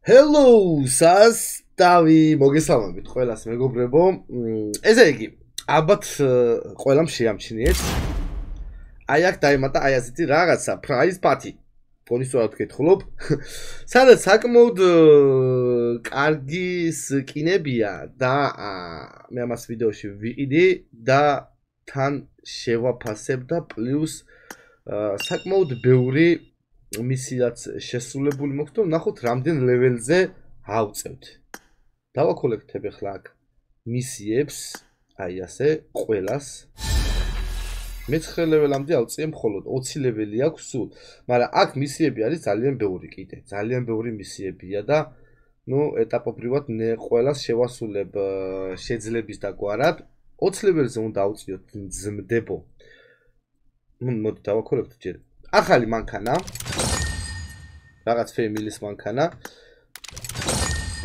Hello, სასტავი მოგესალმებით ყველას მეგობრებო. ესე იგი, ალბათ ყველამ შეამჩნიეთ. აი აქ დაემატა აი ასეთი რაღაცა, prize party. კონისტორად გეთხოვლობ. სადაც საკმაოდ კარგი სკინებია და მე ამას ვიდეოში ვიყიდი და თან შევაფასებ და პლუს საკმაოდ ბევრი მისიაც შესრულებული მოხდა და ნახოთ რამდენ ლეველზე ავწევთ. დავაკოლექტებ ახლა აქ მისიებს, აი ასე, ყველას. მე-9 ლეველამდე ავწიე მხოლოდ 20 ლეველი აქვს სულ, მაგრამ აქ მისიები არის ძალიან ბევრი კიდე, ძალიან ბევრი მისიებია და ეტაპობრივად ყველას შევასრულებ შეძლების დაგვარად. 20 ლეველზე უნდა ავწიოთ ძმდებო. მოდი დავაკოლექტოთ ჯერ. ახალი მანქანა. რაღაც ფემილის მანქანა.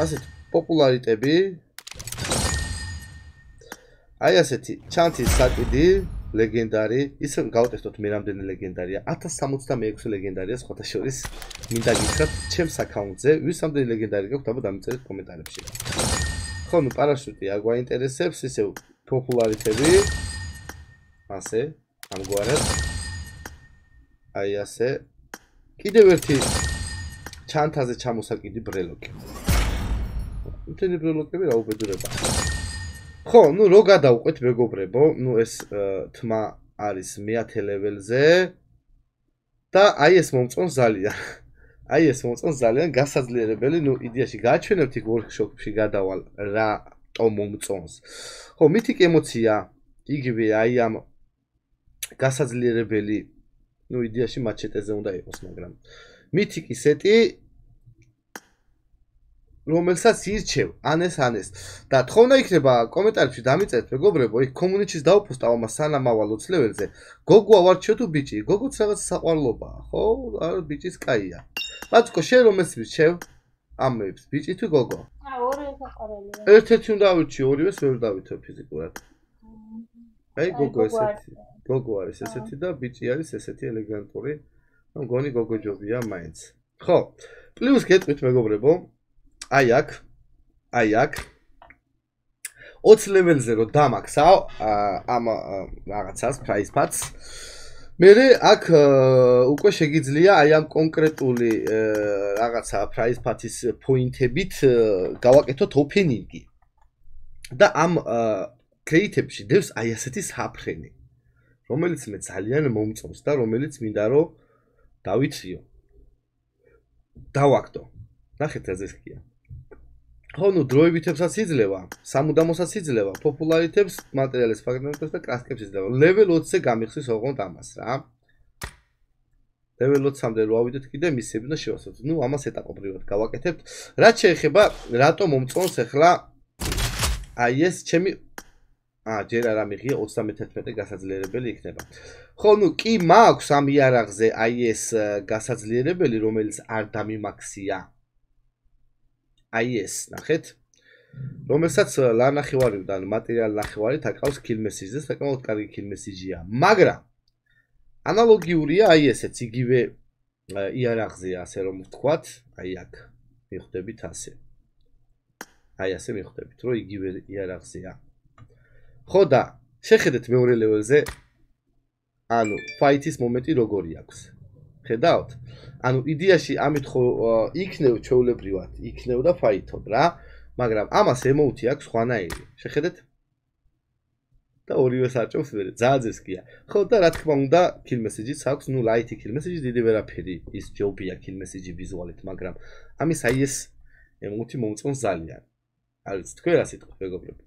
ასეთ პოპულარიტები. აი ასეთი ჩანთის საკიდი, ლეგენდარი. ისე გავტესტოთ მე რამდენი ლეგენდარია. 1066 ლეგენდარია სხვათა შორის. მინდა გითხრათ ჩემს აკაუნტზე, ვის რამდენი ლეგენდარი გაქვთ, აბა დამიწერეთ კომენტარებში. ხო, პარაშუტი არ გვაინტერესებს, ისე პოპულარიტები. ასე, ამგვარად. აი ასე. კიდევ ერთი ჩანთაზე ჩამოსაკიდი ბრელოკი. მთელი ბრელოკები რა უბედურება. ხო, რო გადავყვეთ მეგობრებო, ეს თმა არის მე-10 ლეველზე და აი ეს მომწონს ძალიან. აი ეს მომწონს ძალიან გასაძლიერებელი, იდეაში გააჩვენებთ იქ workshop-ში გადავალ რატო მომწონს. ხო, მითიკ ემოცია იგივე აი ამ გასაძლიერებელი იდეაში მაჩეტეზე უნდა იყოს, მაგრამ მითიკი სეტი რომელსაც ირჩევ, ანეს და თხოვნა იქნება კომენტარებში დამიწერეთ მეგობრებო, იქ community-ს დავუპოსტავ ამას სანამ ავალ 20 ლეველზე. გოგო ავარჩიო თუ ბიჭი? გოგოც რაღაც საყვარლობაა, ხო? არა, ბიჭიც კაია. ბაცკო, შენ რომელს ვირჩევ? ამებს, ბიჭი თუ გოგო? ორივე საყვარელია. ერთ-ერთი უნდა ავირჩიო, ორივეს ვერ დავითო ფიზიკურად. აი გოგო ესეთი. გოგო არის ესეთი და ბიჭი არის ესეთი ელეგანტური. მგონი გოგო ჯობია მაინც. ხო, პლუს გეტყვით მეგობრებო. აი აქ 20 ლეველზე რო დამაქსავ ამ რაღაცას prize parts. მე აქ უკვე შეგიძლია აი ამ კონკრეტული რაღაცა prize parts-ის პოინტებით გავაკეთოთ ოფენინგი. და ამ კრეიტებში დევს აი ასეთი საფრენი, რომელიც მე ძალიან მომწონს და რომელიც მინდა რომ დავითრიო. დავაკდო. ნახეთ რა ზესქია. ხო, დროებითებსაც იძლევა, სამუდამოსაც იძლევა, პოპულარიტებს, მატერიალის ფრაგმენტებს და კრასკებს იძლევა. level 20-ზე გამიხსნის ოღონდ ამას რა. level 20-მდე რო ავიდეთ კიდე მისიები და შევასრულოთ. ამას ეტაპობრივად გავაკეთებთ. რაც შეეხება რატო მომწონს ახლა აი ეს ჩემი ჯერ არ ამიღია 31 გასაძლიერებელი იქნება. ხო, კი მაქვს ამ იარაღზე აი ეს გასაძლიერებელი, რომელიც არ დამიმაქსია. აი ეს, ნახეთ, რომელსაც ლანახევარიდან მატერიალ ნახევარით აკავს kill message-ზე, საკმაოდ კარგი kill message-ია. მაგრამ ანალოგიურია აი ესეც, იგივე იარაღზეა, ასე რომ ვთქვათ, აი აქ მიხვდებით ასე. აი ასე მიხვდებით, რომ იგივე იარაღზეა. ხო და შეხედეთ მეორე ლეველზე, fight-ის მომენტი როგორი აქვს. ხედავთ? იდეაში ამით ხო იქნევ ჩვეულებრივად, იქნევ და ფაითობ რა, მაგრამ ამას ემოუთი აქვს სხვანაირი. შეხედეთ? და ორივე საჭობს მე, ძაძესკია. ხო და რა თქმა უნდა, kill message-იც აქვს, light kill message, დიდი ვერაფერი ის ჯობია kill message ვიზუალით, მაგრამ ამის აი ეს ემოუთი მომწონს ძალიან. არ ვიცი, თქვენ რა სიტყვით მეგობრებო.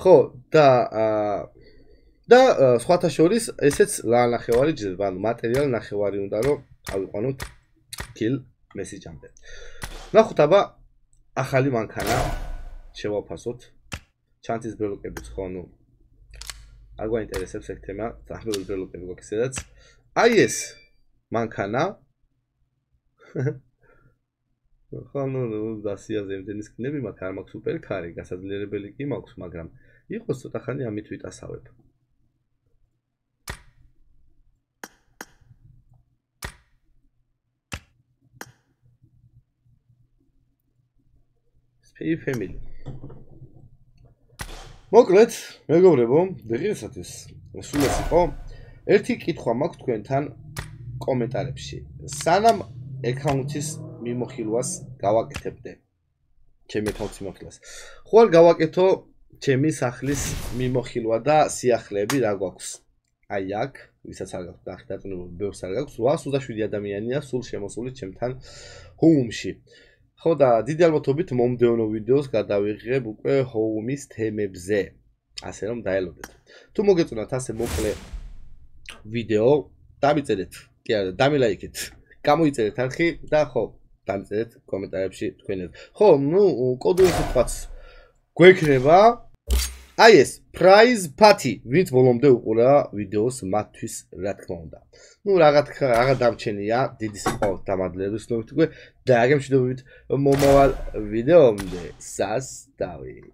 ხო და სხვათა შორის ესეც ლანახევარი ჯდება, მატერიალ ნახევარი უნდა რომ ავიყვანოთ kill message-ამდე. ნახოთ აბა ახალი მანქანა შევაფასოთ. ჩანთის ბრელოკებიც ხო, არ გვაინტერესებს ეგ თემა, ძაღლები ბრელოკები გვაქვს სადაც. აი ეს მანქანა. ხო, დასიაზე იმდენი სკინები მაქვს, არ მაქვს სუპერ ქარი, გასაძლიერებელი კი მაქვს, მაგრამ იყოს ცოტა ხანი ამით ვიტასავებ. Spy Family. მოკლედ, მეგობრებო, დღეისათვის სულ ეს იყო. ერთი კითხვა მაქვს თქვენთან კომენტარებში. სანამ აკაუნტის მიმოხილვას გავაკეთებდე. ჩემი აკაუნტის მიმოხილვას. ხო არ გავაკეთო ჩემი სახლის მიმოხილვა და სიახლეები რა გვაქვს? აი აქ, ვისაც არ გაქვს ნახე დაწნებული, ბევრს არ გაქვს, 827 ადამიანია სულ შემოსული ჩემთან home-ში. ხო და დიდი ალბათობით მომდევნო ვიდეოს გადავიღებ უკვე home-ის თემებზე. ასე რომ დაელოდეთ. თუ მოგეწონათ ასე მოკლე ვიდეო, დამიწერეთ, კი არა, დამილაიქეთ. გამოიწერეთ არხი და ხო, დამიწერეთ კომენტარებში თქვენი. ხო, ნუ კოდური სიტყვაც გვექნება. აი ეს prize party, ვინც ბოლომდე უყურა ვიდეოს მათთვის, რა თქმა უნდა. ნუ რაღაც დამჩენია, დიდი სიყვარულით დამადლებით ვთქვი და აგემშვიდობებით მომავალ ვიდეომდე. სასტავი.